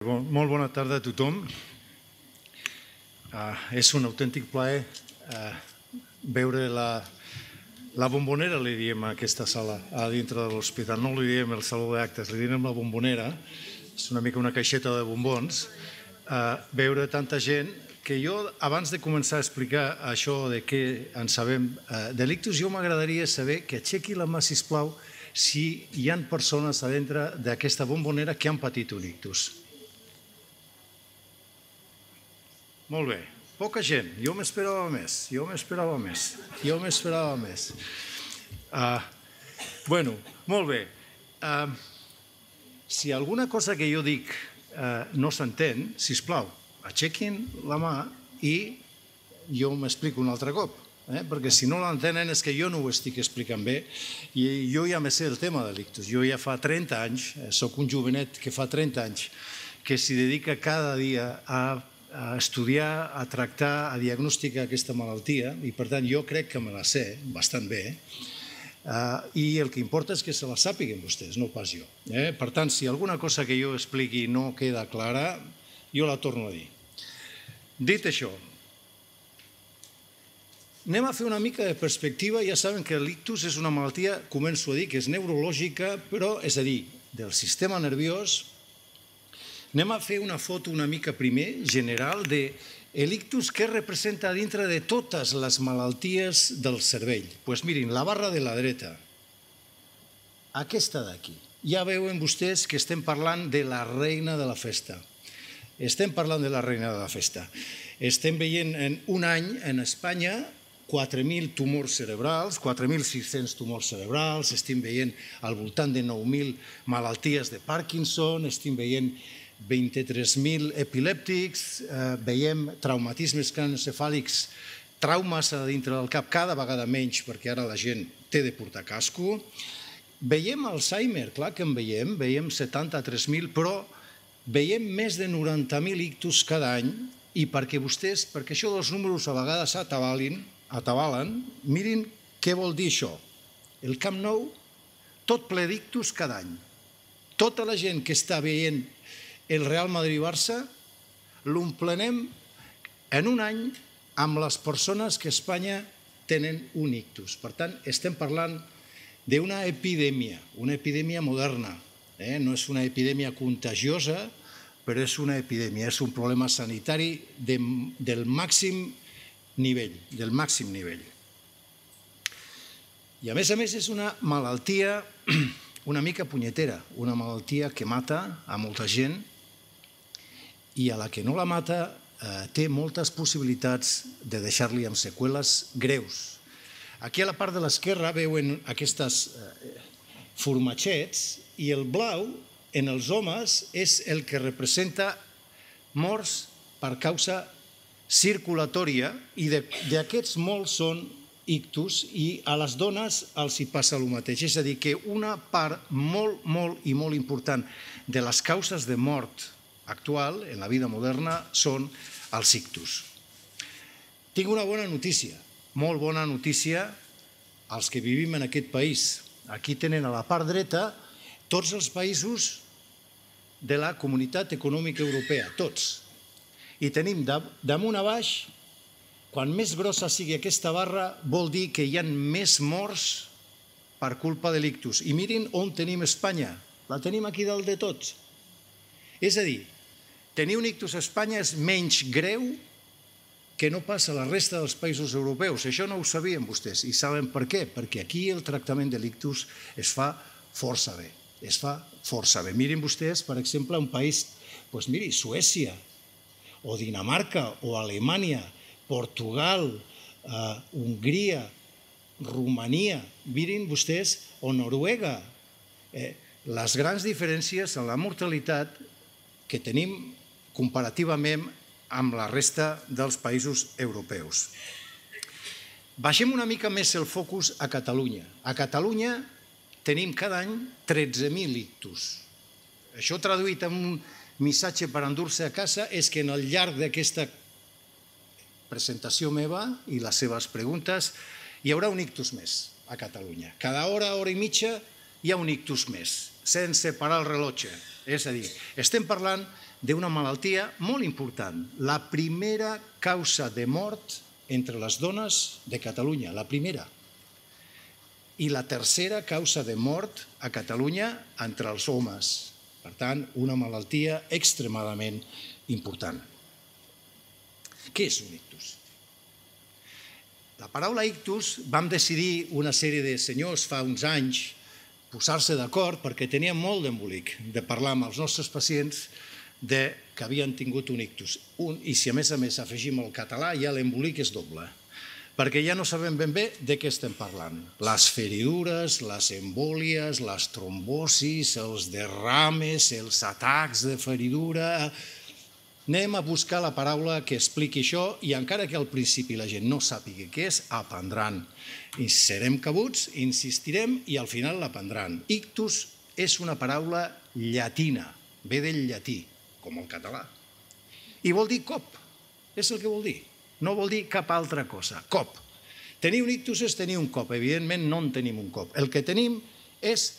Molt bona tarda a tothom. És un autèntic plaer veure la bombonera, li diem a aquesta sala, a dintre de l'hospital. No li diem el saló d'actes, li diem la bombonera. És una mica una caixeta de bombons. Veure tanta gent que jo, abans de començar a explicar això de què en sabem de l'ictus, jo m'agradaria saber que aixequi la mà, sisplau, si hi ha persones a dintre d'aquesta bombonera que han patit un ictus. Molt bé, poca gent, jo m'esperava més. Bueno, molt bé. Si alguna cosa que jo dic no s'entén, sisplau, aixequin la mà i jo m'explico un altre cop, perquè si no l'entenen és que jo no ho estic explicant bé i jo ja me sé el tema de l'ictus. Jo ja fa 30 anys, soc un jovenet que fa 30 anys, que s'hi dedica cada dia a estudiar, a tractar, a diagnosticar aquesta malaltia i per tant jo crec que me la sé bastant bé i el que importa és que se la sàpiguen vostès, no pas jo. Per tant, si alguna cosa que jo expliqui no queda clara, jo la torno a dir. Dit això, anem a fer una mica de perspectiva. Ja saben que l'ictus és una malaltia, començo a dir, que és neurològica, però és a dir, del sistema nerviós. Anem a fer una foto una mica primer, general, de l'ictus que representa dintre de totes les malalties del cervell. Doncs mirin, la barra de la dreta, aquesta d'aquí. Ja veuen vostès que estem parlant de la reina de la festa. Estem veient en un any en Espanya 4.000 tumors cerebrals, 4.600 tumors cerebrals, estem veient al voltant de 9.000 malalties de Parkinson, estem veient 23.000 epilèptics, veiem traumatismes cranioencefàlics, traumes a dintre del cap, cada vegada menys perquè ara la gent té de portar casco. Veiem Alzheimer, clar que en veiem 73.000, però veiem més de 90.000 ictus cada any i perquè això dels números a vegades atabalen, mirin què vol dir això. El Camp Nou, tot ple d'ictus cada any. Tota la gent que està veient el Real Madrid-Barça l'omplenem en un any amb les persones que a Espanya tenen un ictus. Per tant, estem parlant d'una epidèmia moderna. No és una epidèmia contagiosa, però és una epidèmia, és un problema sanitari del màxim nivell. I a més és una malaltia una mica punyetera, una malaltia que mata a molta gent i a la que no la mata té moltes possibilitats de deixar-li amb seqüeles greus. Aquí a la part de l'esquerra veuen aquestes formatgets i el blau en els homes és el que representa morts per causa circulatòria i d'aquests molts són ictus i a les dones els hi passa el mateix. És a dir, que una part molt important de les causes de mort actual en la vida moderna són els ictus. Tinc una bona notícia, molt bona notícia als que vivim en aquest país. Aquí tenen a la part dreta tots els països de la Comunitat Econòmica Europea, tots. I tenim damunt a baix, quan més grossa sigui aquesta barra, vol dir que hi ha més morts per culpa de l'ictus. I mirin on tenim Espanya, la tenim aquí dalt de tots. És a dir, tenir un ictus a Espanya és menys greu que no passa a la resta dels països europeus. Això no ho sabien vostès i saben per què? Perquè aquí el tractament de l'ictus es fa força bé. Mirin vostès, per exemple, un país, miri, Suècia, o Dinamarca, o Alemanya, Portugal, Hongria, Romania, mirin vostès, o Noruega. Les grans diferències en la mortalitat que tenim comparativament amb la resta dels països europeus. Baixem una mica més el focus a Catalunya. A Catalunya tenim cada any 13.000 ictus. Això traduït en un missatge per endur-se a casa és que al llarg d'aquesta presentació meva i les seves preguntes hi haurà un ictus més a Catalunya. Cada hora i mitja hi ha un ictus més, sense parar el rellotge. És a dir, estem parlant d'una malaltia molt important, la primera causa de mort entre les dones de Catalunya, la primera. I la tercera causa de mort a Catalunya entre els homes. Per tant, una malaltia extremadament important. Què és un ictus? La paraula ictus, vam decidir una sèrie de senyors fa uns anys posar-se d'acord perquè teníem molt d'embolic de parlar amb els nostres pacients que havien tingut un ictus. I si a més afegim el català, ja l'embolic és doble, perquè ja no sabem ben bé de què estem parlant. Les feridures, les embòlies, les trombosis, els derrames, els atacs de feridura. Anem a buscar la paraula que expliqui això i encara que al principi la gent no sàpiga què és, aprendran. I serem cabuts, insistirem i al final l'aprendran. Ictus és una paraula llatina, ve del llatí, com el català. I vol dir cop, és el que vol dir. No vol dir cap altra cosa, cop. Tenir un ictus és tenir un cop, evidentment no en tenim un cop. El que tenim és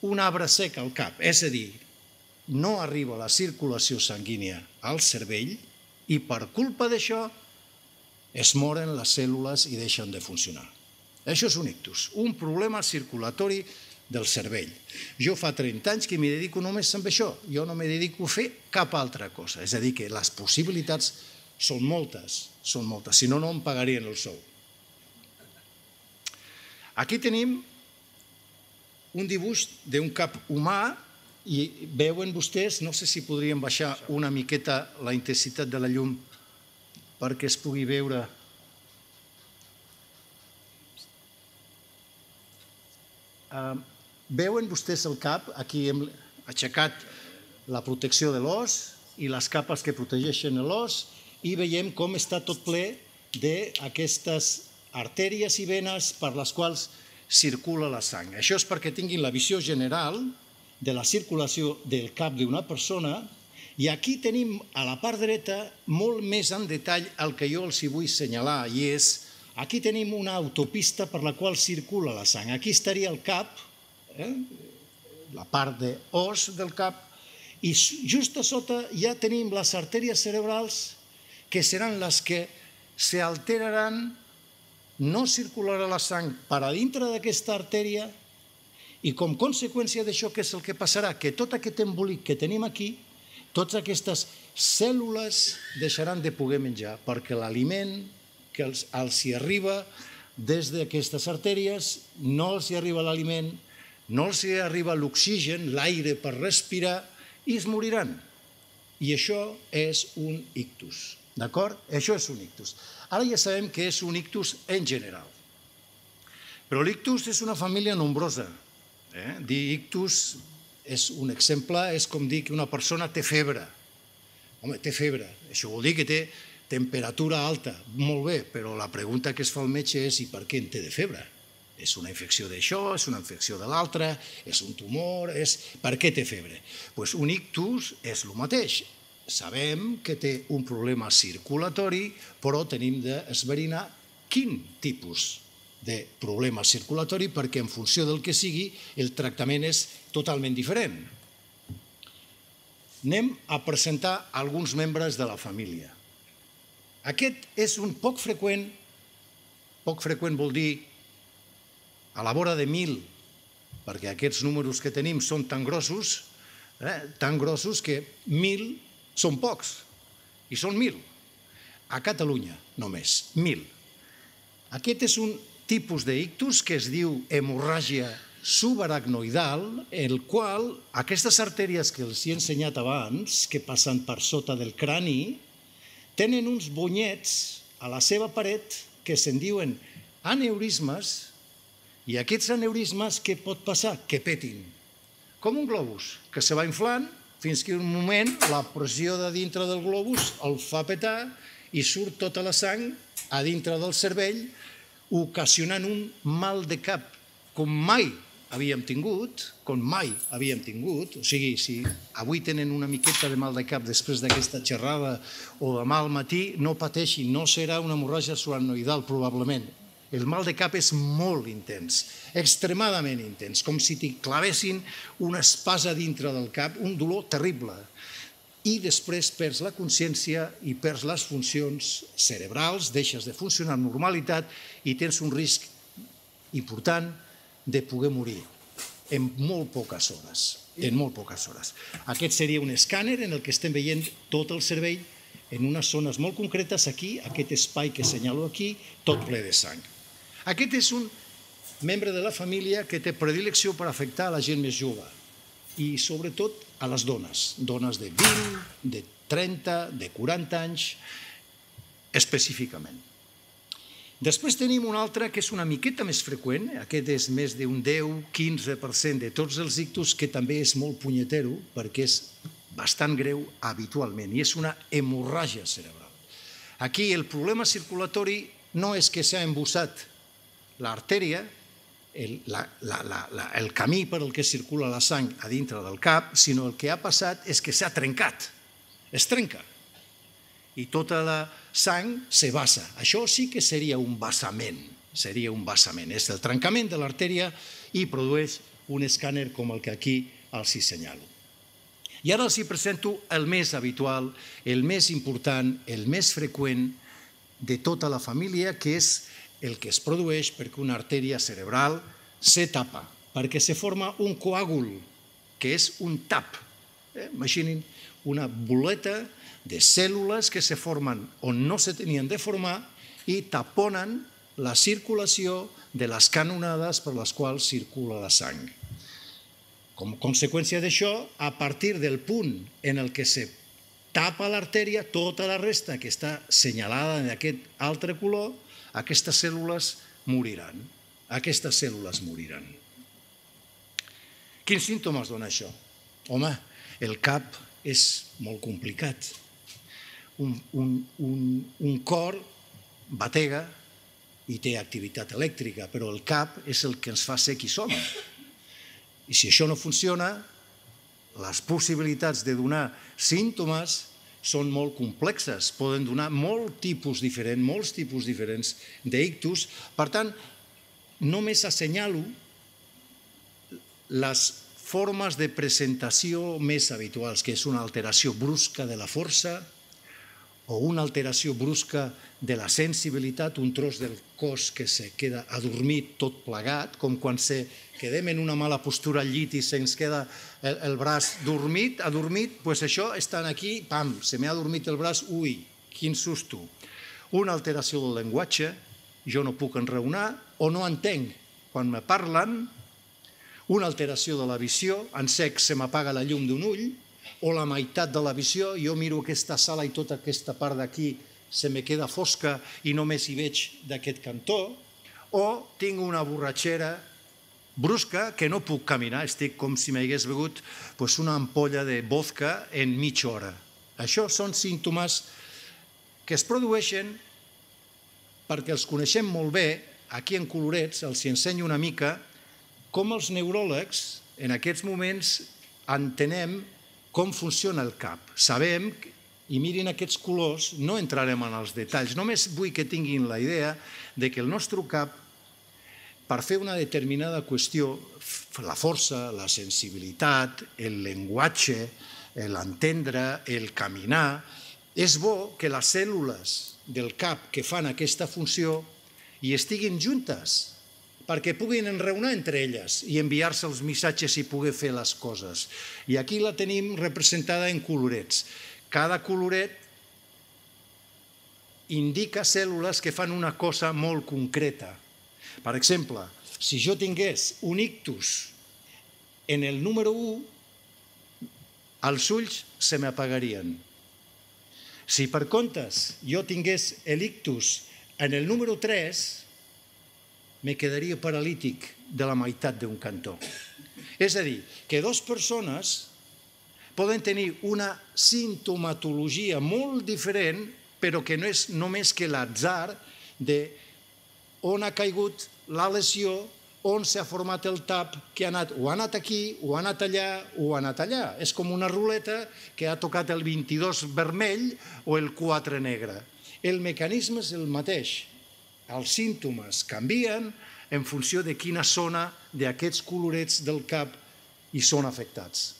un arbre sec al cap, és a dir, no arriba la circulació sanguínia al cervell i per culpa d'això es moren les cèl·lules i deixen de funcionar. Això és un ictus, un problema circulatori del cervell. Jo fa 30 anys que m'hi dedico només amb això, jo no m'hi dedico a fer cap altra cosa, és a dir, que les possibilitats són moltes, si no, no em pagarien el sou. Aquí tenim un dibuix d'un cap humà i veuen vostès, no sé si podríem baixar una miqueta la intensitat de la llum perquè es pugui veure. Veuen vostès el cap, aquí hem aixecat la protecció de l'os i les capes que protegeixen l'os i veiem com està tot ple d'aquestes artèries i venes per les quals circula la sang. Això és perquè tinguin la visió general de la circulació del cap d'una persona i aquí tenim a la part dreta molt més en detall el que jo els hi vull assenyalar i és, aquí tenim una autopista per la qual circula la sang. Aquí estaria el cap, la part d'os del cap, i just a sota ja tenim les artèries cerebrals que seran les que s'alteraran, no circularà la sang per a dintre d'aquesta artèria i com conseqüència d'això què és el que passarà? Que tot aquest embolic que tenim aquí, totes aquestes cèl·lules deixaran de poder menjar perquè l'aliment que els hi arriba des d'aquestes artèries no els hi arriba l'aliment, no els hi arriba l'oxigen, l'aire per respirar i es moriran. I això és un ictus, d'acord? Això és un ictus. Ara ja sabem que és un ictus en general. Però l'ictus és una família nombrosa. Dir ictus és un exemple, és com dir que una persona té febre. Home, té febre, això vol dir que té temperatura alta, molt bé, però la pregunta que es fa al metge és i per què en té de febre? És una infecció d'això, és una infecció de l'altra, és un tumor, per què té febre? Doncs un ictus és el mateix. Sabem que té un problema circulatori, però tenim d'esverinar quin tipus de problema circulatori perquè en funció del que sigui el tractament és totalment diferent. Anem a presentar alguns membres de la família. Aquest és un poc freqüent vol dir a la vora de 1.000, perquè aquests números que tenim són tan grossos que 1.000 són pocs, i són 1.000. A Catalunya, només, 1.000. Aquest és un tipus d'ictus que es diu hemorràgia subaracnoidal, el qual aquestes artèries que els he ensenyat abans, que passen per sota del crani, tenen uns bonyets a la seva paret que se'n diuen aneurismes, i aquests aneurismes què pot passar? Que petin. Com un globus, que se va inflant fins que en un moment la pressió de dintre del globus el fa petar i surt tota la sang a dintre del cervell, ocasionant un mal de cap com mai havíem tingut, o sigui, si avui tenen una miqueta de mal de cap després d'aquesta xerrada o demà al matí, no pateixin, no serà una hemorràgia subaracnoidal probablement. El mal de cap és molt intens, extremadament intens, com si t'hi clavessin una espasa dintre del cap, un dolor terrible. i després perds la consciència i perds les funcions cerebrals, deixes de funcionar amb normalitat i tens un risc important de poder morir en molt poques hores. Aquest seria un escàner en el que estem veient tot el cervell en unes zones molt concretes aquí, aquest espai que assenyalo aquí, tot ple de sang. Aquest és un membre de la família que té predilecció per afectar a la gent més jove i sobretot a les dones de 20, de 30, de 40 anys, específicament. Després tenim un altre que és una miqueta més freqüent, aquest és més d'un 10-15% de tots els ictus, que també és molt punyetero perquè és bastant greu habitualment i és una hemorràgia cerebral. Aquí el problema circulatori no és que s'ha embussat l'artèria, el camí per al que circula la sang a dintre del cap, sinó el que ha passat és que s'ha trencat, es trenca, i tota la sang se vassa. Això sí que seria un vessament, és el trencament de l'artèria i produeix un escàner com el que aquí els hi senyalo. I ara els hi presento el més habitual, el més important, el més freqüent de tota la família, que és el que es produeix perquè una artèria cerebral se tapa, perquè se forma un coàgul, que és un tap. Imaginin una boleta de cèl·lules que se formen on no se tenien de formar i taponen la circulació de les canonades per les quals circula la sang. Com a conseqüència d'això, a partir del punt en el que se tapa l'artèria, tota la resta que està senyalada d'aquest altre color, aquestes cèl·lules moriran. Quins símptomes dona això? Home, el cap és molt complicat. Un cor batega i té activitat elèctrica, però el cap és el que ens fa ser qui som. I si això no funciona, les possibilitats de donar símptomes són molt complexes, poden donar molts tipus diferents d'ictus. Per tant, només assenyalo les formes de presentació més habituals, que és una alteració brusca de la força o una alteració brusca de la sensibilitat, un tros del cos que se queda adormit tot plegat, com quan quedem en una mala postura al llit i se'ns queda el braç adormit, doncs això estan aquí, pam, se m'ha adormit el braç, ui, quin susto. Una alteració del llenguatge, jo no puc enraonar o no entenc quan me parlen, una alteració de la visió, en sec se m'apaga la llum d'un ull, o la meitat de la visió, jo miro aquesta sala i tota aquesta part d'aquí se me queda fosca i només hi veig d'aquest cantó, o tinc una borratxera brusca que no puc caminar, estic com si m'hagués begut una ampolla de vodka en mitja hora. Això són símptomes que es produeixen perquè els coneixem molt bé, aquí en colorets els ensenyo una mica com els neuròlegs en aquests moments entenem com funciona el cap. Sabem, i mirin aquests colors, no entrarem en els detalls, només vull que tinguin la idea de que el nostre cap, per fer una determinada qüestió, la força, la sensibilitat, el llenguatge, l'entendre, el caminar, és bo que les cèl·lules del cap que fan aquesta funció hi estiguin juntes, perquè puguin enraonar entre elles i enviar-se els missatges i poder fer les coses. I aquí la tenim representada en colorets. Cada coloret indica cèl·lules que fan una cosa molt concreta. Per exemple, si jo tingués un ictus en el número 1, els ulls se m'apagarien. Si per comptes jo tingués l'ictus en el número 3, me quedaria paralític de la meitat d'un cantó. És a dir, que dues persones poden tenir una simptomatologia molt diferent, però que no és només que l'atzar d'on ha caigut la lesió, on s'ha format el tap, que o ha anat aquí, o ha anat allà, o ha anat allà. És com una ruleta que ha tocat el 22 vermell o el 4 negre. El mecanisme és el mateix. Els símptomes canvien en funció de quina zona d'aquests colorets del cap hi són afectats.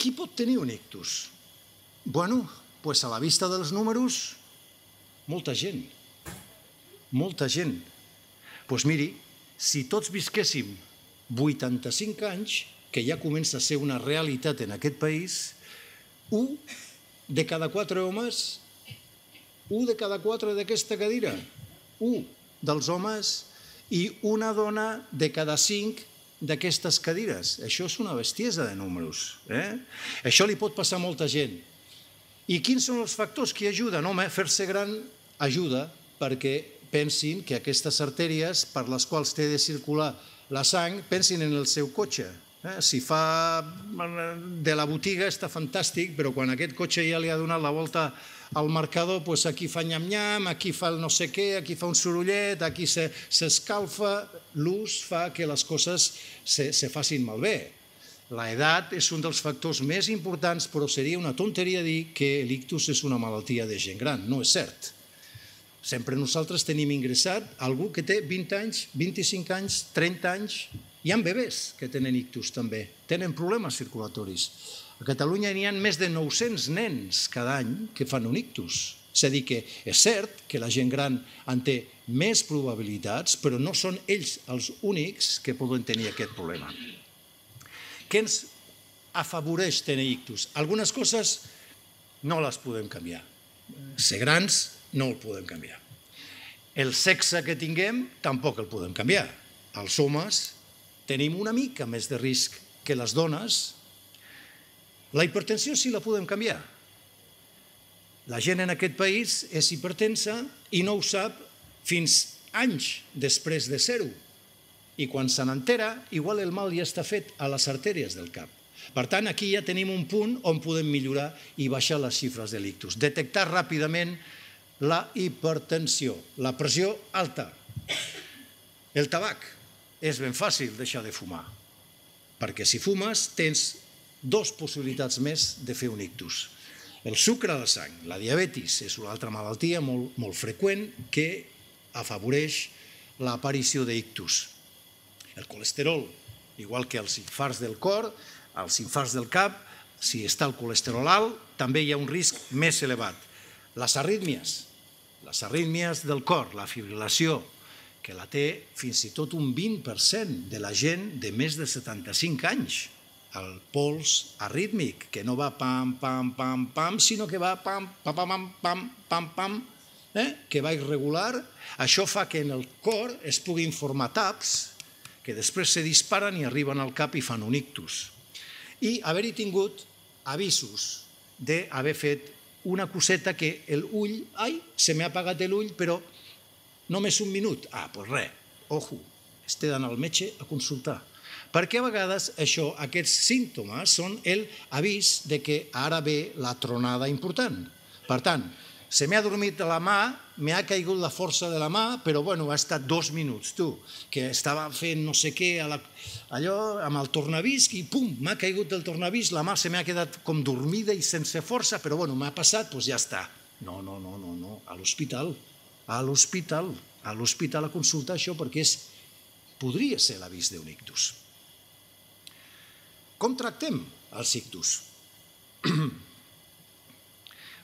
qui pot tenir un ictus? Bueno, doncs a la vista dels números, molta gent. Molta gent. Doncs miri, si tots visquéssim 85 anys, que ja comença a ser una realitat en aquest país, 1 de cada 4 homes, 1 de cada 4 d'aquesta cadira, 1 dels homes i una dona de cada 5 d'aquestes cadires. Això és una bestiesa de números. Això li pot passar a molta gent. I quins són els factors que ajuden? Home, fer-se gran ajuda perquè pensin que aquestes artèries per les quals té de circular la sang, pensin en el seu cotxe. Si fa de la botiga està fantàstic, però quan aquest cotxe ja li ha donat la volta al marcador, doncs aquí fa nyam-nyam, aquí fa el no sé què, aquí fa un sorollet, aquí s'escalfa. L'ús fa que les coses se facin malbé. L'edat és un dels factors més importants, però seria una tonteria dir que l'ictus és una malaltia de gent gran. No és cert. Sempre nosaltres tenim ingressat algú que té 20 anys, 25 anys, 30 anys. Hi ha bebès que tenen ictus també, tenen problemes circulatoris. A Catalunya n'hi ha més de 900 nens cada any que fan un ictus. És a dir, que és cert que la gent gran en té més probabilitats, però no són ells els únics que poden tenir aquest problema. Què ens afavoreix tenir ictus? Algunes coses no les podem canviar. Ser grans no el podem canviar. El sexe que tinguem tampoc el podem canviar. Els homes tenim una mica més de risc que les dones. La hipertensió sí la podem canviar. La gent en aquest país és hipertensa i no ho sap fins anys després de ser-ho. I quan se n'entera, igual el mal ja està fet a les artèries del cap. Per tant, aquí ja tenim un punt on podem millorar i baixar les xifres de l'ictus. Detectar ràpidament la hipertensió, la pressió alta. El tabac. És ben fàcil deixar de fumar, perquè si fumes tens 2 possibilitats més de fer un ictus. El sucre a la sang, la diabetis, és una altra malaltia molt freqüent que afavoreix l'aparició d'ictus. El colesterol, igual que els infarts del cor, els infarts del cap, si està el colesterol alt, també hi ha un risc més elevat. Les arrítmies del cor, la fibrilació, que la té fins i tot un 20% de la gent de més de 75 anys. El pols arrítmic, que no va pam, pam, pam, pam, sinó que va pam, pam, pam, pam, pam, pam, que va irregular. Això fa que en el cor es puguin formar taps que després se disparen i arriben al cap i fan un ictus. I haver-hi tingut avisos d'haver fet una coseta que l'ull, ai, se m'ha apagat l'ull, però només un minut. Doncs res, ojo, t'he d'anar al metge a consultar. Perquè a vegades aquests símptomes són l'avís que ara ve la tronada important. Per tant, se m'ha adormit la mà, m'ha caigut la força de la mà, però bueno, ha estat 2 minuts, que estava fent no sé què, allò amb el tornavís, i pum, m'ha caigut el tornavís, la mà se m'ha quedat com dormida i sense força, però bueno, m'ha passat, doncs ja està. No, a l'hospital. A l'hospital a consultar això perquè podria ser l'avís d'un ictus. Com tractem els ictus?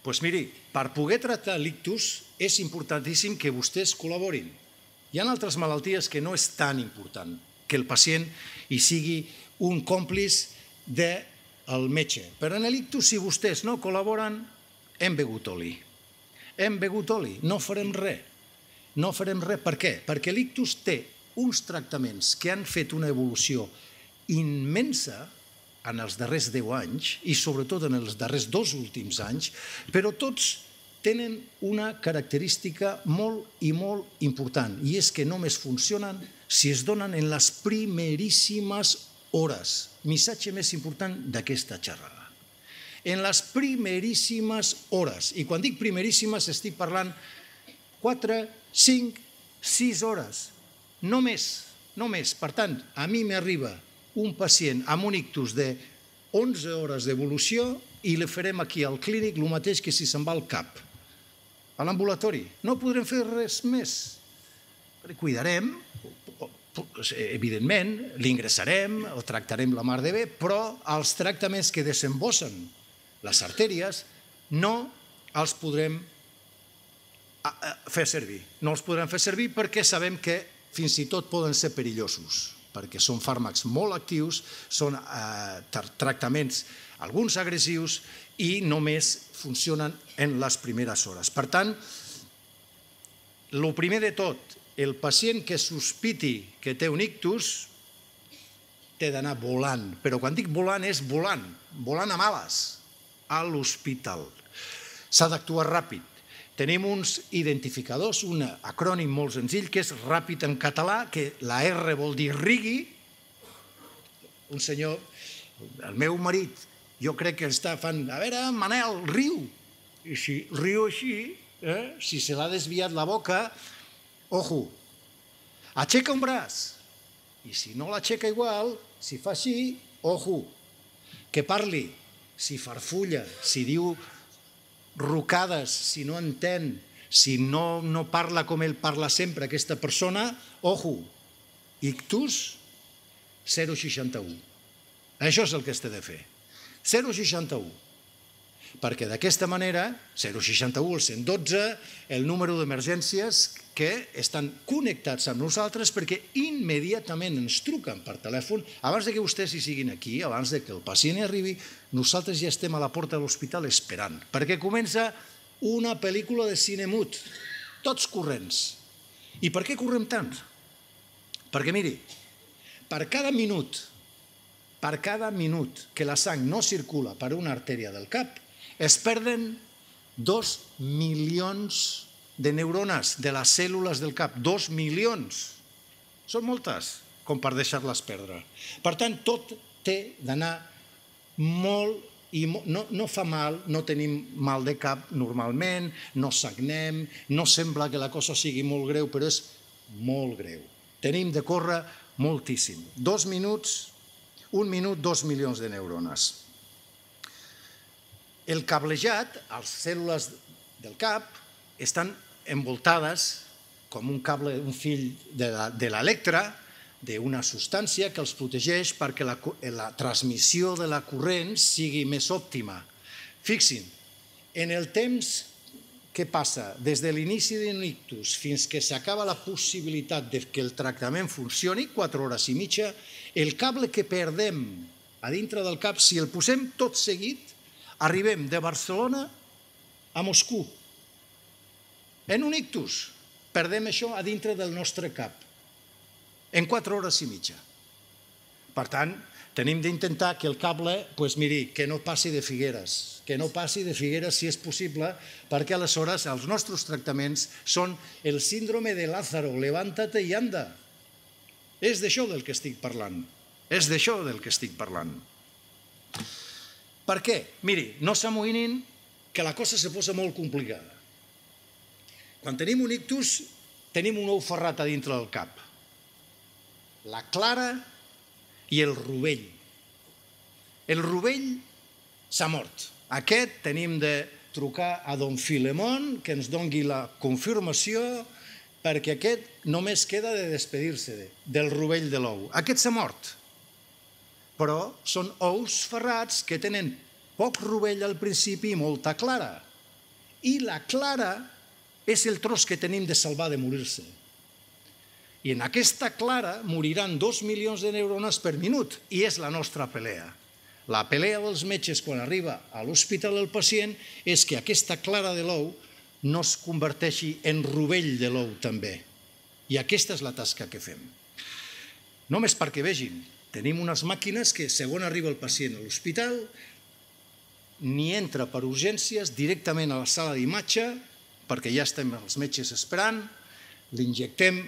Doncs miri, per poder tractar l'ictus és importantíssim que vostès col·laborin. Hi ha altres malalties que no és tan important que el pacient hi sigui un còmplice del metge. Però en l'ictus, si vostès no col·laboren, hem begut oli. Hem begut oli, no farem res. No farem res. Per què? Perquè l'ictus té uns tractaments que han fet una evolució immensa en els darrers 10 anys i sobretot en els darrers 2 últims anys, però tots tenen una característica molt i molt important, i és que només funcionen si es donen en les primeríssimes hores. Missatge més important d'aquesta xerrada. En les primeríssimes hores. I quan dic primeríssimes estic parlant 4, 5, 6 hores. No més, no més. Per tant, a mi m'arriba un pacient amb un ictus de 11 hores d'evolució i li farem aquí al clínic el mateix que si se'n va al cap. A l'ambulatori. No podrem fer res més. Cuidarem, evidentment, l'ingressarem, el tractarem la mar de bé, però els tractaments que desembossen les artèries no els podrem fer servir. No els podrem fer servir perquè sabem que fins i tot poden ser perillosos, perquè són fàrmacs molt actius, són tractaments, alguns agressius, i només funcionen en les primeres hores. Per tant, el primer de tot, el pacient que sospiti que té un ictus té d'anar volant, però quan dic volant és volant, volant a males, a l'hospital. S'ha d'actuar ràpid. Tenim uns identificadors, un acrònim molt senzill, que és ràpid en català, que la R vol dir rigui. Un senyor, el meu marit, jo crec que està fan, a veure, Manel, riu. I si riu així, si se l'ha desviat la boca, ojo, aixeca un braç. I si no l'aixeca igual, si fa així, ojo, que parli. Si farfulla, si diu rucades, si no entén, si no parla com ell parla sempre, aquesta persona, ojo, ictus 061. Això és el que es té de fer. 061. Perquè d'aquesta manera, 061, el 112, el número d'emergències que estan connectats amb nosaltres perquè immediatament ens truquen per telèfon. Abans que vostès hi siguin aquí, abans que el pacient hi arribi, nosaltres ja estem a la porta de l'hospital esperant, perquè comença una pel·lícula de cine mut, tots corrents. I per què correm tant? Perquè, miri, per cada minut que la sang no circula per una artèria del cap, es perden 2 milions de neurones de les cèl·lules del cap. 2 milions. Són moltes, com per deixar-les perdre. Per tant, tot té d'anar molt i no fa mal, no tenim mal de cap normalment, no sagnem, no sembla que la cosa sigui molt greu, però és molt greu. Tenim de córrer moltíssim. 2 minuts, 1 minut, 2 milions de neurones. El cablejat, les cèl·lules del cap, estan envoltades com un cable, un fil de l'electre, d'una substància que els protegeix perquè la transmissió de la corrent sigui més òptima. Fixin, en el temps que passa des de l'inici d'un ictus fins que s'acaba la possibilitat que el tractament funcioni, 4 hores i mitja, el cable que perdem a dintre del cap, si el posem tot seguit, arribem de Barcelona a Moscou. En un ictus, perdem això a dintre del nostre cap, en 4 hores i mitja. Per tant, tenim d'intentar que el cable, miri, que no passi de Figueres, si és possible, perquè aleshores els nostres tractaments són el síndrome de Lázaro, levántate i anda. És d'això del que estic parlant. Per què? Miri, no s'amoïnin que la cosa se posa molt complicada. Quan tenim un ictus, tenim un ou ferrat a dintre del cap. La clara i el rovell. El rovell s'ha mort. Aquest tenim de trucar a don Filemón que ens doni la confirmació perquè aquest només queda de despedir-se del rovell de l'ou. Aquest s'ha mort. Però són ous ferrats que tenen poc rovell al principi i molta clara. I la clara és el tros que tenim de salvar de morir-se. I en aquesta clara moriran 2 milions de neurones per minut, i és la nostra pelea. La pelea dels metges quan arriba a l'hospital el pacient és que aquesta clara de l'ou no es converteixi en rovell de l'ou també. I aquesta és la tasca que fem. Només perquè vegin, tenim unes màquines que, segons arriba el pacient a l'hospital, ni entra per urgències directament a la sala d'imatge, perquè ja estem els metges esperant, li injectem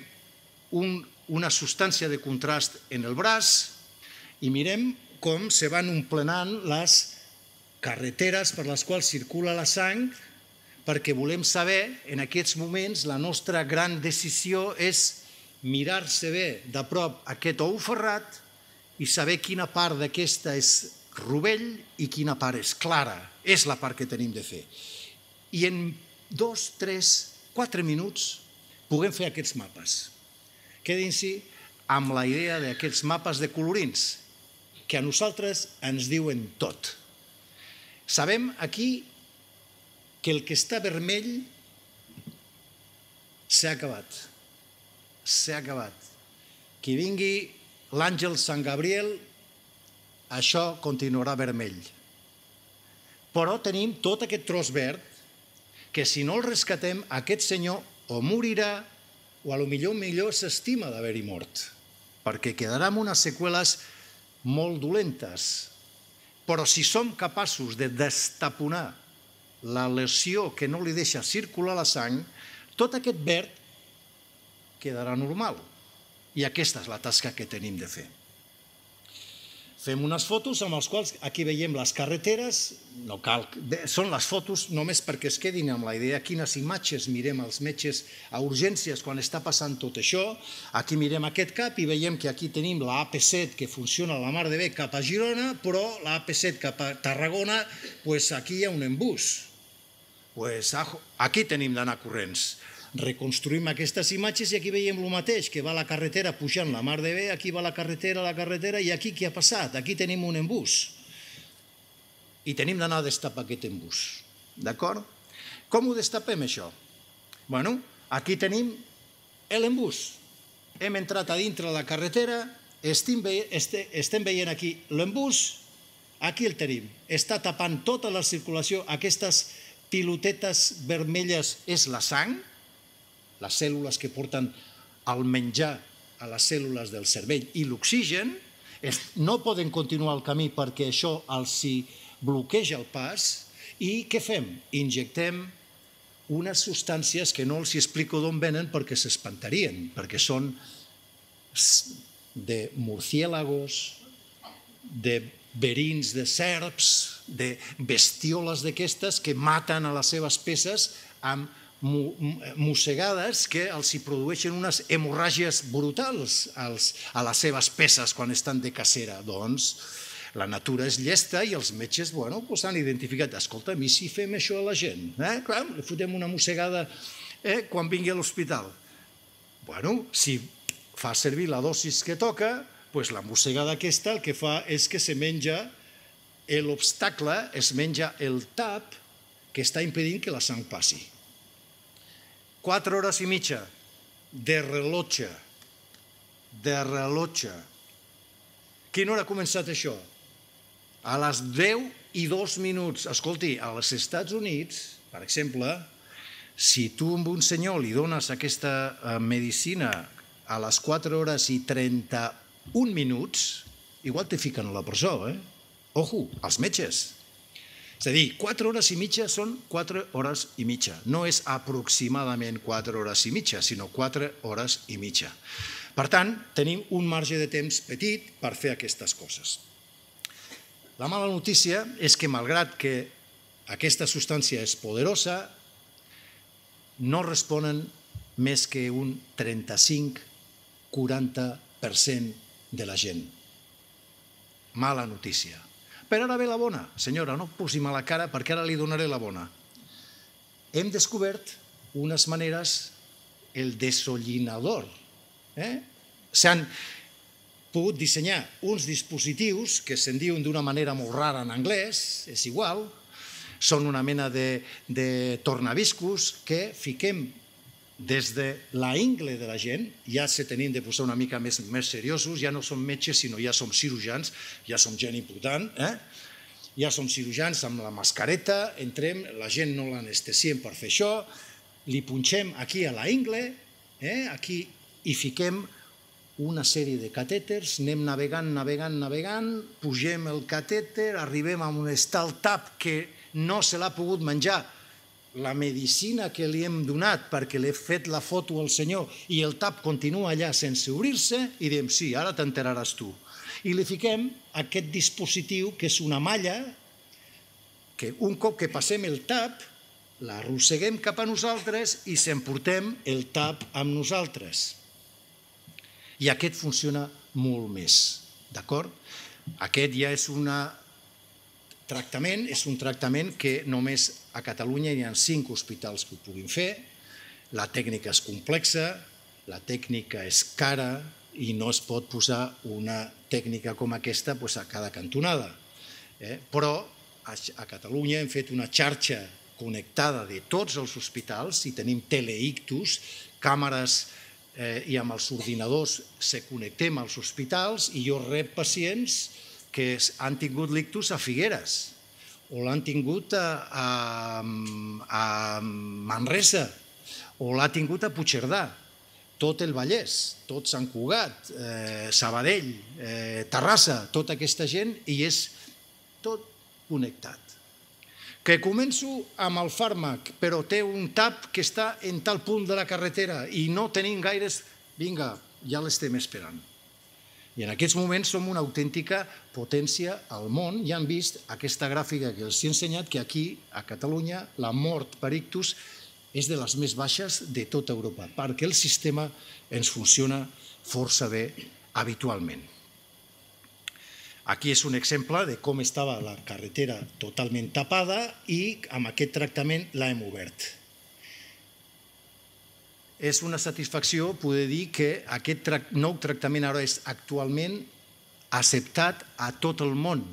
una substància de contrast en el braç i mirem com se van omplenant les carreteres per les quals circula la sang, perquè volem saber, en aquests moments, la nostra gran decisió és mirar-se bé de prop aquest ou ferrat i saber quina part d'aquesta és rovell i quina part és clara. És la part que tenim de fer. I en 2, 3, 4 minuts puguem fer aquests mapes. Quedin-s'hi amb la idea d'aquests mapes de colorins, que a nosaltres ens diuen tot. Sabem aquí que el que està vermell s'ha acabat. S'ha acabat. Que vingui l'àngel Sant Gabriel, això continuarà vermell. Però tenim tot aquest tros verd que si no el rescatem, aquest senyor o morirà o a lo millor s'estima d'haver-hi mort, perquè quedarà amb unes seqüeles molt dolentes. Però si som capaços de destaponar la lesió que no li deixa circular la sang, tot aquest verd quedarà normal. I aquesta és la tasca que tenim de fer. Fem unes fotos amb les quals aquí veiem les carreteres, no cal, són les fotos només perquè es quedin amb la idea quines imatges mirem els metges a urgències quan està passant tot això. Aquí mirem aquest cap i veiem que aquí tenim la AP7 que funciona a la mar de bé cap a Girona, però la AP7 cap a Tarragona, aquí hi ha un embús. Aquí tenim d'anar corrents. Reconstruïm aquestes imatges i aquí veiem el mateix, que va la carretera pujant la mar de bé, aquí va la carretera, i aquí què ha passat? Aquí tenim un embús. I tenim d'anar a destapar aquest embús. D'acord? Com ho destapem, això? Bueno, aquí tenim l'embús. Hem entrat a dintre la carretera, estem veient aquí l'embús, aquí el tenim. Està tapant tota la circulació, aquestes pilotetes vermelles és la sang, les cèl·lules que porten el menjar a les cèl·lules del cervell i l'oxigen, no poden continuar el camí perquè això els bloqueja el pas. I què fem? Injectem unes substàncies que no els explico d'on venen perquè s'espantarien, perquè són de murciélagos, de verins de serps, de bestioles d'aquestes que maten a les seves peces amb mossegades que els produeixen unes hemorràgies brutals a les seves peces quan estan de cacera. Doncs la natura és llesta i els metges han identificat, escolta, i si fem això a la gent? Clar, li fotem una mossegada quan vingui a l'hospital. Si fa servir la dosis que toca, la mossegada aquesta el que fa és que se menja l'obstacle, es menja el tap que està impedint que la sang passi. 4 hores i mitja de rellotge. Quina hora ha començat això? A les 10:02. Escolti, als Estats Units, per exemple, si tu a un senyor li dones aquesta medicina a les 4 hores i 31 minuts, igual te fiquen a la presó, Ojo, els metges. És a dir, 4 hores i mitja són 4 hores i mitja. No és aproximadament 4 hores i mitja, sinó 4 hores i mitja. Per tant, tenim un marge de temps petit per fer aquestes coses. La mala notícia és que, malgrat que aquesta substància és poderosa, no responen més que un 35-40% de la gent. Mala notícia. Però ara ve la bona. Senyora, no posi mala cara perquè ara li donaré la bona. Hem descobert unes maneres, el desollinador. S'han pogut dissenyar uns dispositius que se'n diuen d'una manera molt rara en anglès, és igual, són una mena de tornaviscos que fiquem des de la ingle de la gent, ja se tenim de posar una mica més seriosos, ja no som metges, sinó ja som cirurgians, ja som gent important, ja som cirurgians amb la mascareta, entrem, la gent no l'anestesiem per fer això, li punxem aquí a la ingle, aquí hi fiquem una sèrie de catèters, anem navegant, pugem el catèter, arribem a on està el tap que no se l'ha pogut menjar la medicina que li hem donat perquè li he fet la foto al senyor i el tap continua allà sense obrir-se i diem, sí, ara t'enteraràs tu. I li fiquem aquest dispositiu que és una malla que un cop que passem el tap l'arrosseguem cap a nosaltres i s'emportem el tap amb nosaltres. I aquest funciona molt més, d'acord? Aquest ja és un tractament que només a Catalunya hi ha 5 hospitals que ho puguin fer. La tècnica és complexa, la tècnica és cara, i no es pot posar una tècnica com aquesta a cada cantonada. Però a Catalunya hem fet una xarxa connectada de tots els hospitals i tenim teleictus, càmeres i amb els ordinadors se connectem als hospitals i jo rep pacients que han tingut l'ictus a Figueres o l'han tingut a Manresa o l'ha tingut a Puigcerdà, tot el Vallès, tot Sant Cugat, Sabadell, Terrassa, tota aquesta gent i és tot connectat. Que començo amb el fàrmac, però té un tap que està en tal punt de la carretera i no tenim gaires... Vinga, ja l'estem esperant. I en aquests moments som una autèntica potència al món. Ja han vist aquesta gràfica que els he ensenyat, que aquí, a Catalunya, la mort per ictus és de les més baixes de tota Europa, perquè el sistema ens funciona força bé habitualment. Aquí és un exemple de com estava la carretera totalment tapada i amb aquest tractament l'hem obert. És una satisfacció poder dir que aquest nou tractament ara és actualment acceptat a tot el món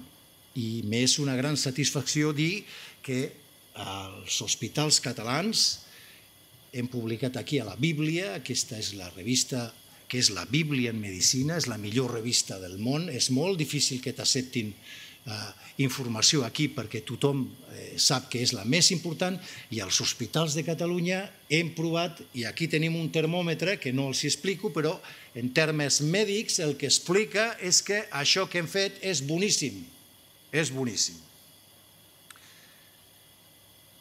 i m'és una gran satisfacció dir que els hospitals catalans hem publicat aquí a la Bíblia, aquesta és la revista que és la Bíblia en Medicina, és la millor revista del món. És molt difícil que t'acceptin informació aquí perquè tothom sap que és la més important i als hospitals de Catalunya hem provat, i aquí tenim un termòmetre que no els explico, però en termes mèdics el que explica és que això que hem fet és boníssim. És boníssim.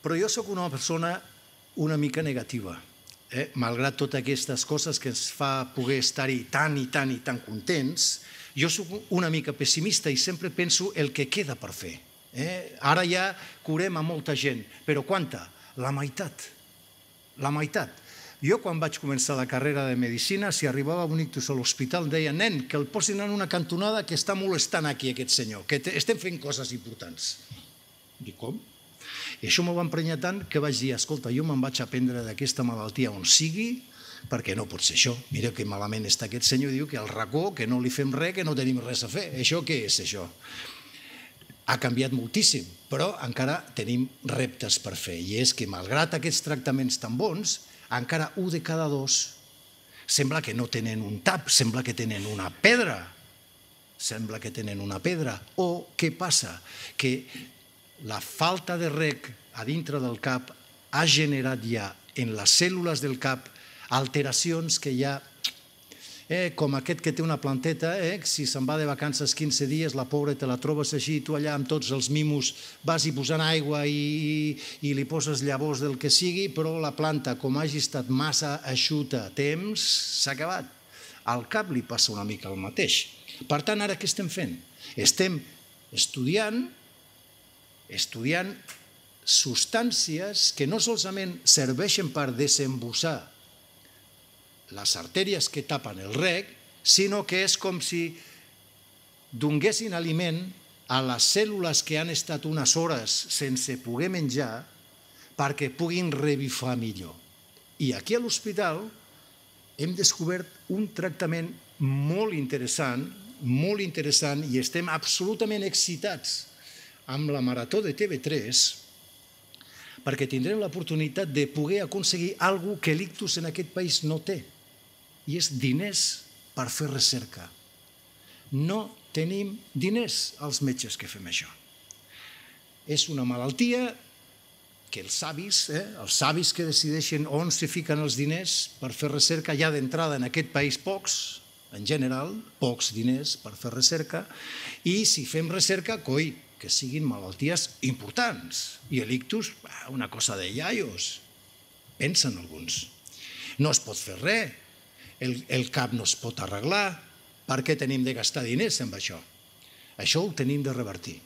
Però jo sóc una persona una mica negativa. Malgrat totes aquestes coses que ens fa poder estar-hi tan i tan i tan contents, jo soc una mica pessimista i sempre penso el que queda per fer. Ara ja curem a molta gent, però quanta? La meitat. La meitat. Jo quan vaig començar la carrera de Medicina, si arribava un ictus a l'hospital, deia, nen, que el posin en una cantonada que està molestant aquí aquest senyor, que estem fent coses importants. Dic, com? I això m'ho va emprenyar tant que vaig dir, escolta, jo me'n vaig aprendre d'aquesta malaltia on sigui, perquè no pot ser això. Mira que malament està aquest senyor, diu que al racó, que no li fem res, que no tenim res a fer. Això què és, això? Ha canviat moltíssim, però encara tenim reptes per fer. I és que, malgrat aquests tractaments tan bons, encara 1 de cada 2 sembla que no tenen un tap, sembla que tenen una pedra. Sembla que tenen una pedra. O què passa? Que la falta de reg a dintre del cap ha generat ja en les cèl·lules del cap alteracions que ja, com aquest que té una planteta, si se'n va de vacances 15 dies, la pobra te la trobes així, tu allà amb tots els mimos vas i posant aigua i li poses llavors del que sigui, però la planta, com hagi estat massa eixuta a temps, s'ha acabat. Al cap li passa una mica el mateix. Per tant, ara què estem fent? Estem estudiant substàncies que no solament serveixen per desembussar les artèries que tapen el reg, sinó que és com si donguessin aliment a les cèl·lules que han estat unes hores sense poder menjar perquè puguin revifar millor. I aquí a l'hospital hem descobert un tractament molt interessant i estem absolutament excitats amb la Marató de TV3 perquè tindrem l'oportunitat de poder aconseguir alguna cosa que l'ictus en aquest país no té, i és diners per fer recerca. No tenim diners els metges que fem això. És una malaltia que els savis que decideixen on se fiquen els diners per fer recerca, ja d'entrada en aquest país pocs, en general, pocs diners per fer recerca, i si fem recerca, coi, que siguin malalties importants. I l'ictus, una cosa de iaios, pensen alguns. No es pot fer res, el cap no es pot arreglar, per què tenim de gastar diners amb això? Això ho tenim de revertir.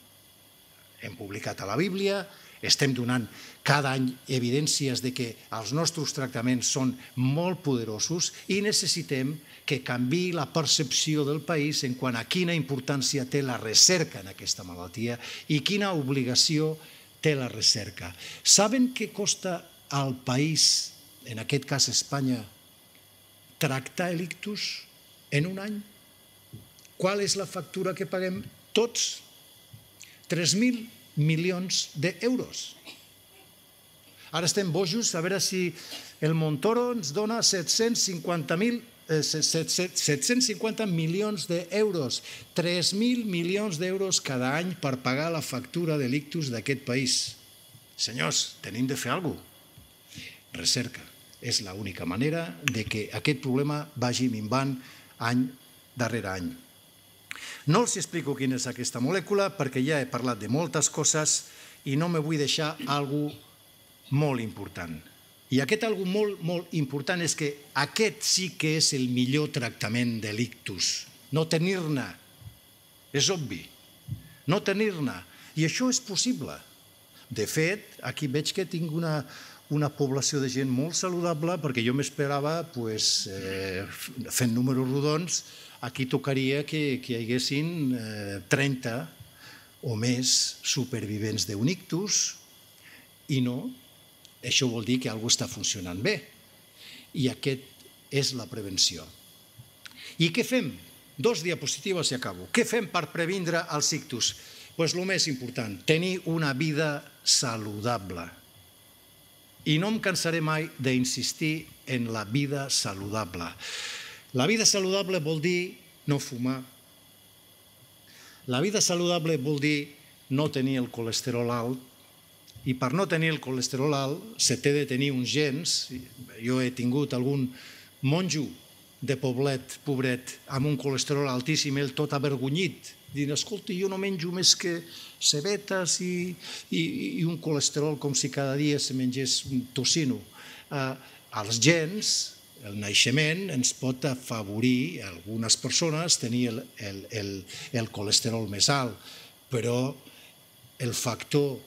Hem publicat a la Bíblia, estem donant cada any evidències de que els nostres tractaments són molt poderosos i necessitem que canviï la percepció del país en quant a quina importància té la recerca en aquesta malaltia i quina obligació té la recerca. Saben què costa al país, en aquest cas Espanya, tractar l'ictus en un any. Qual és la factura que paguem tots? 3.000 milions d'euros. Ara estem bojos a veure si el Montoro ens dona 750 milions d'euros. 3.000 milions d'euros cada any per pagar la factura de l'ictus d'aquest país. Senyors, tenim de fer alguna cosa. Recerca. És l'única manera de que aquest problema vagi minvant any darrere any. No els explico quina és aquesta molècula perquè ja he parlat de moltes coses i no me vull deixar alguna cosa molt important. I aquest algo molt, molt important és que aquest sí que és el millor tractament de l'ictus. No tenir-ne. És obvi. No tenir-ne. I això és possible. De fet, aquí veig que tinc una població de gent molt saludable perquè jo m'esperava, fent números rodons, aquí tocaria que hi haguessin 30 o més supervivents d'un ictus i no. Això vol dir que alguna cosa està funcionant bé. I aquest és la prevenció. I què fem? 2 diapositives i acabo. Què fem per previndre els ictus? Doncs el més important, tenir una vida saludable. I no em cansaré mai d'insistir en la vida saludable. La vida saludable vol dir no fumar. La vida saludable vol dir no tenir el colesterol alt. I per no tenir el colesterol alt se té de tenir uns gens. Jo he tingut algun monjo de poblet, pobret, amb un colesterol altíssim, ell tot avergonyit, dient, escolta, jo no menjo més que cebetes i un colesterol com si cada dia se mengés un tocino. Els gens, el naixement, ens pot afavorir a algunes persones tenir el colesterol més alt, però el factor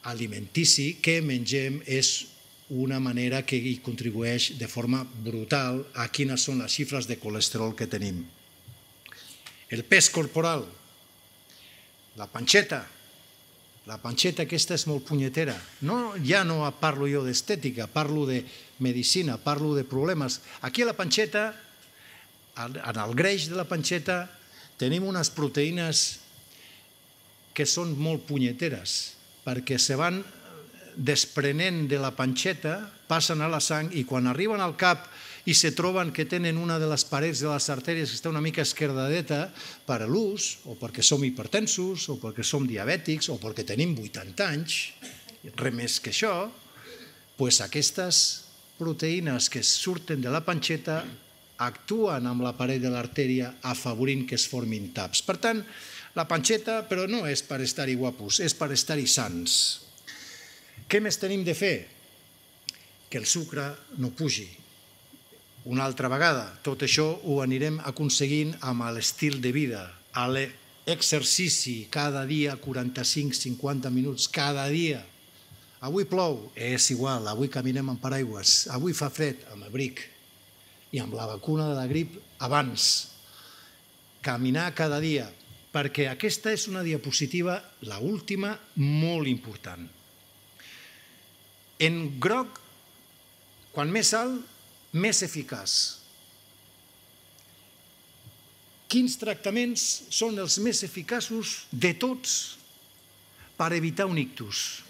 alimentici que mengem és una manera que hi contribueix de forma brutal a quines són les xifres de colesterol que tenim. El pes corporal, la panxeta aquesta és molt punyetera. Ja no parlo jo d'estètica, parlo de medicina, parlo de problemes. Aquí a la panxeta, en el greix de la panxeta, tenim unes proteïnes que són molt punyeteres, perquè se van desprenent de la panxeta, passen a la sang i quan arriben al cap i se troben que tenen una de les parets de les artèries que està una mica esquerdadeta per a l'ús, o perquè som hipertensos, o perquè som diabètics, o perquè tenim 80 anys, res més que això, doncs aquestes proteïnes que surten de la panxeta actuen amb la paret de l'artèria afavorint que es formin taps. Per tant, la panxeta, però no és per estar-hi guapos, és per estar-hi sants. Què més tenim de fer? Que el sucre no pugi. Una altra vegada, tot això ho anirem aconseguint amb l'estil de vida, a l'exercici, cada dia 45-50 minuts, cada dia. Avui plou, és igual, avui caminem amb paraigües, avui fa fred, amb abric, i amb la vacuna de la grip abans. Caminar cada dia, perquè aquesta és una diapositiva, l'última, molt important. En groc, quan més alt, més eficaç. Quins tractaments són els més eficaços de tots per evitar un ictus?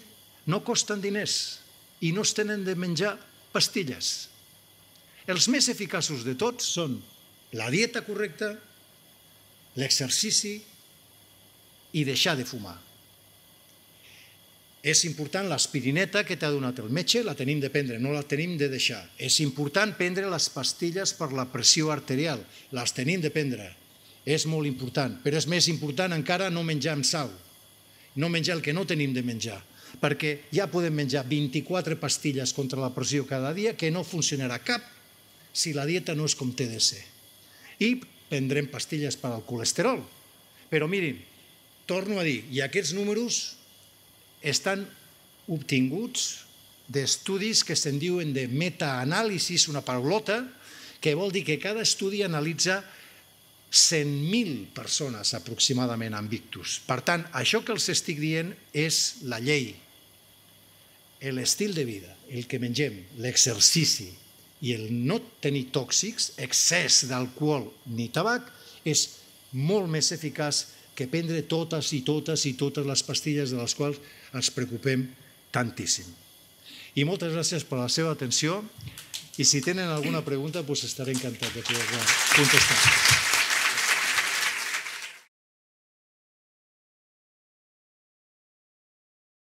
No costen diners i no es tenen de menjar pastilles. Els més eficaços de tots són la dieta correcta, l'exercici i deixar de fumar. És important l'aspirineta que t'ha donat el metge, la tenim de prendre, no la tenim de deixar. És important prendre les pastilles per la pressió arterial, les tenim de prendre. És molt important, però és més important encara no menjar amb sal, no menjar el que no tenim de menjar, perquè ja podem menjar 24 pastilles contra la pressió cada dia que no funcionarà cap si la dieta no és com té de ser. I prendrem pastilles per al colesterol. Però mirin, torno a dir, i aquests números estan obtinguts d'estudis que se'n diuen de metaanàlisis, una paraulota, que vol dir que cada estudi analitza 100.000 persones aproximadament amb ictus. Per tant, això que els estic dient és la llei, l'estil de vida, el que mengem, l'exercici i el no tenir tòxics, excés d'alcohol ni tabac, és molt més eficaç que prendre totes les pastilles de les quals ens preocupem tantíssim. I moltes gràcies per la seva atenció i si tenen alguna pregunta estaré encantat de poder-la contestar.